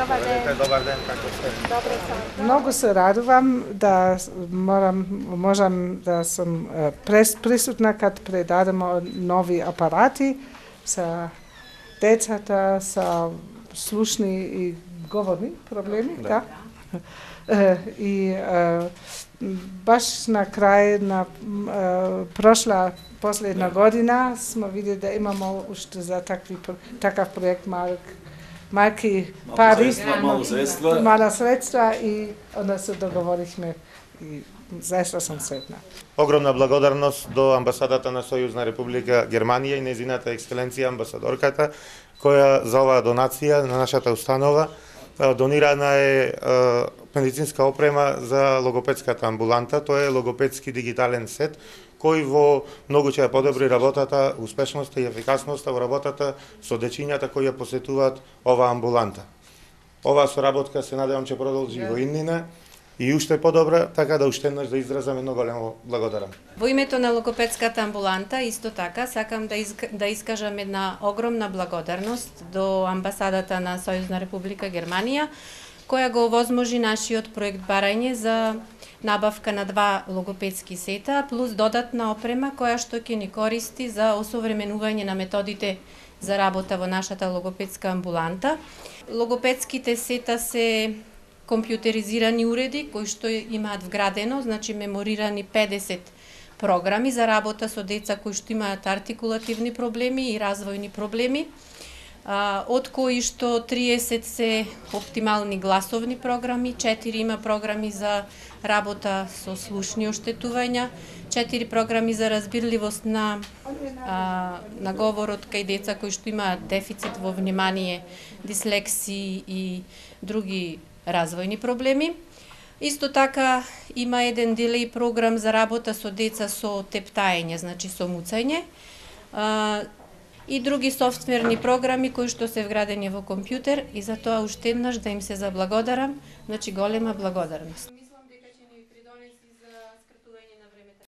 Добар ден, како сте? Добре сам. Многу се радувам да можам да сум присутна кад предадемо нови апарати за децата со слушни и говорни проблеми, да. И баш на крај на прошла последна година сме видели да имамо уште за такав проект малки пари, мала средства и onda се договорихме и заista сум сретна. Огромна благодарност до амбасадата на Сојузна Република Германија и нејзината екселенција амбасадорката, која за оваа донација на нашата установа донирана е медицинска опрема за логопедската амбуланта. Тоа е логопедски дигитален сет кој во многу ќе подобри работата, успешноста и ефикасноста во работата со дечињата кои ја посетуваат оваа амбуланта. Оваа соработка се надевам ќе продолжи во иднина и уште подобра, така да уште еднаш да изразам едно големо благодарам. Во името на логопедската амбуланта, исто така, сакам да искажам една огромна благодарност до амбасадата на Сојузна Република Германија, која го овозможи нашиот проект барање за набавка на 2 логопедски сета, плюс додатна опрема која што ќе ни користи за осовременување на методите за работа во нашата логопедска амбуланта. Логопедските сета се компјутеризирани уреди кои што имаат вградено, значи меморирани 50 програми за работа со деца кои што имаат артикулативни проблеми и развојни проблеми, од кои што 30 се оптимални гласовни програми, 4 има програми за работа со слушни оштетувања, 4 програми за разбирливост на говорот кај деца кои што имаат дефицит во внимание, дислексии и други развојни проблеми. Исто така има еден делеј програм за работа со деца со тептаење, значи со муцање, и други софтверни програми кои што се вградени во компјутер, и за тоа уште еднаш да им се заблагодарам, значи голема благодарност.